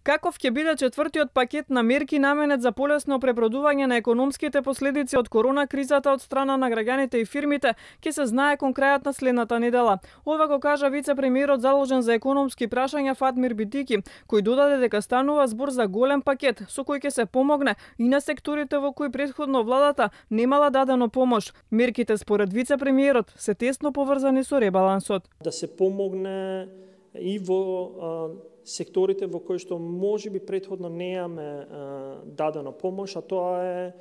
Каков ќе биде четвртиот пакет на мерки наменет за полесно пребродување на економските последици од корона кризата од страна на граѓаните и фирмите, ќе се знае кон крајот на следната недела. Ова го кажа вице-премиерот заложен за економски прашања Фатмир Битики, кој додаде дека станува збор за голем пакет со кој ќе се помогне и на секторите во кои претходно владата немала дадено помош. Мерките според вице-премиерот се тесно поврзани со ребалансот. Да се помогне и во секторите во кои што можеби претходно неаме дадено помош, а тоа е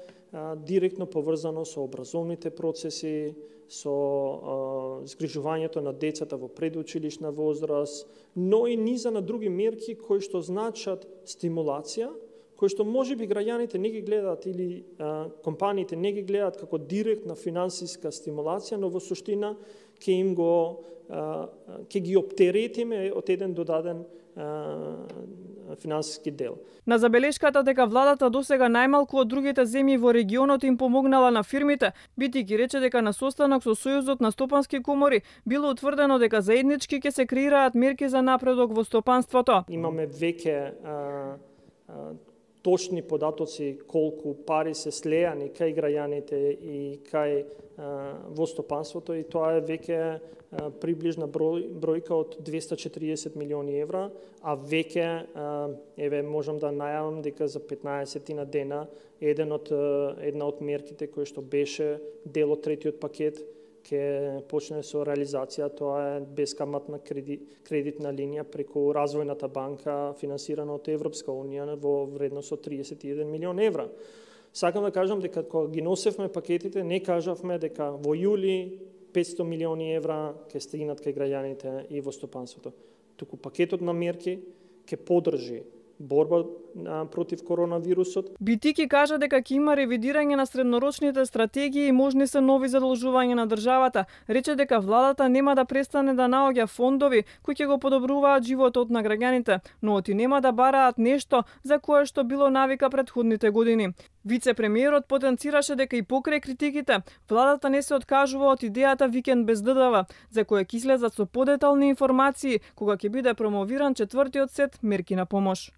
директно поврзано со образовните процеси, со згрижувањето на децата во предучилишна возраст, но и низа на други мерки кои што значат стимулација, кои што можеби граѓаните не ги гледаат или компаниите не ги гледаат како директна финансиска стимулација, но во суштина ќе ги оптеретиме од еден додаден финансиски дел. На забелешката дека владата досега најмалку од другите земји во регионот им помогнала на фирмите, Битики рече дека на состанок со Сојузот на стопански комори било утврдено дека заеднички ќе се креираат мерки за напредок во стопанството. Имаме веќе точни податоци колку пари се слеани кај граѓаните и кај во стопанството, и тоа е веќе приближна бројка од 240 милиони евра, а веќе можам да најавам дека за 15 на дена една од мерките кои што беше дел од третиот пакет ќе почне со реализација. Тоа е бескаматна кредитна линија преку Развојната банка, финансирана од Европска унија во вредност од 31 милион евра. Сакам да кажам дека кога ги носевме пакетите, не кажавме дека во јули 500 милиони евра ќе стигнат кај граѓаните и во стопанството. Туку пакетот на мерки ќе поддржи борба против коронавирусот. Битики кажа дека ќе има ревидирање на среднорочните стратегии и можни се нови задолжувања на државата. Рече дека владата нема да престане да наоѓа фондови кои ќе го подобруваат животот на граѓаните, но оти нема да бараат нешто за кое што било навика претходните години. Вице-премиерот потенцираше дека и покрај критиките, владата не се откажува од идејата викенд без ДДВ, за која ќе излезат со подетални информации кога ќе биде промовиран четвртиот сет мерки на помош.